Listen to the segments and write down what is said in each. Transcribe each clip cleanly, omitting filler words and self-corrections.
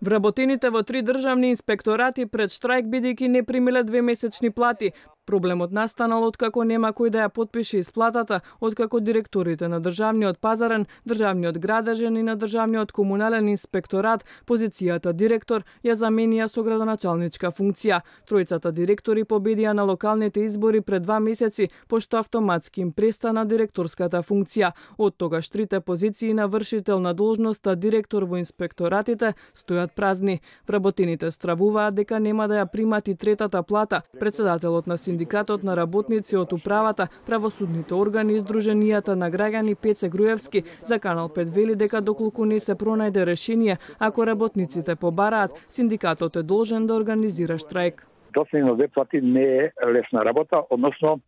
Вработените во 3 државни инспекторати пред штрајк бидејќи не примиле 2-месечни плати. Проблемот настанал откако нема кој да ја потпише исплатата, откако директорите на државниот пазарен, државниот градежен и на државниот комунален инспекторат позицијата директор ја заменија со градоначалничка функција. Тројцата директори победија на локалните избори пред 2 месеци, пошто автоматски им престана директорската функција. Од тогаш трите позиции на вршител на должноста директор во инспекторатите стојат празни. Вработените стравуваат дека нема да ја примат и третата плата. Председателот на Синдикатот на работници од управата, правосудните органи и Сдруженијата на граѓани Пеце Груевски за Канал 5 вели дека доколку не се пронајде решение, ако работниците побараат, синдикатот е должен да организира штрајк. Доцнено две плати не е лесна работа, односно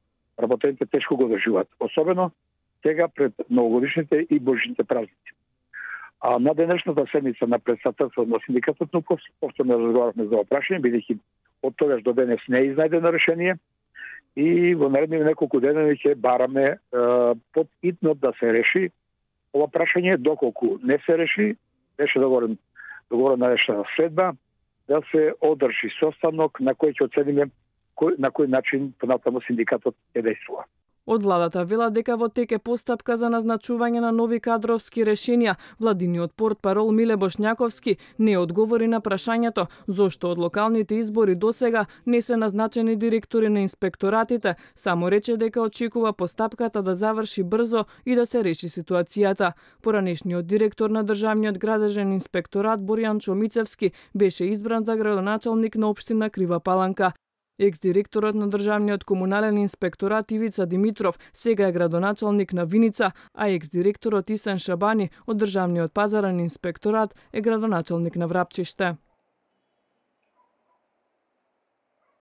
работените тешко го држуваат, особено сега пред новогодишните и божните празници. А на денешната седница на председателството на синдикатот повторно разговаравме за опрашање, бидејќи од тогаш до денес не е изнајдено решение и во наредни неколку дена ќе бараме под итно да се реши ова прашање. Доколку не се реши, беше договорена решена следба да се одржи состанок на кој ќе оцениме на кој начин понатаму синдикатот ќе действува. Од владата велат дека во тек е постапка за назначување на нови кадровски решенија. Владиниот портпарол Миле Бошњаковски не одговори на прашањето зошто од локалните избори досега не се назначени директори на инспекторатите, само рече дека очекува постапката да заврши брзо и да се реши ситуацијата. Поранешниот директор на државниот градежен инспекторат Боријан Чомицевски беше избран за градоначалник на општина Крива Паланка. Екс-директорот на државниот комунален инспекторат Ивица Димитров сега е градоначалник на Виница, а екс-директорот Исен Шабани од државниот пазарен инспекторат е градоначалник на Врапчиште.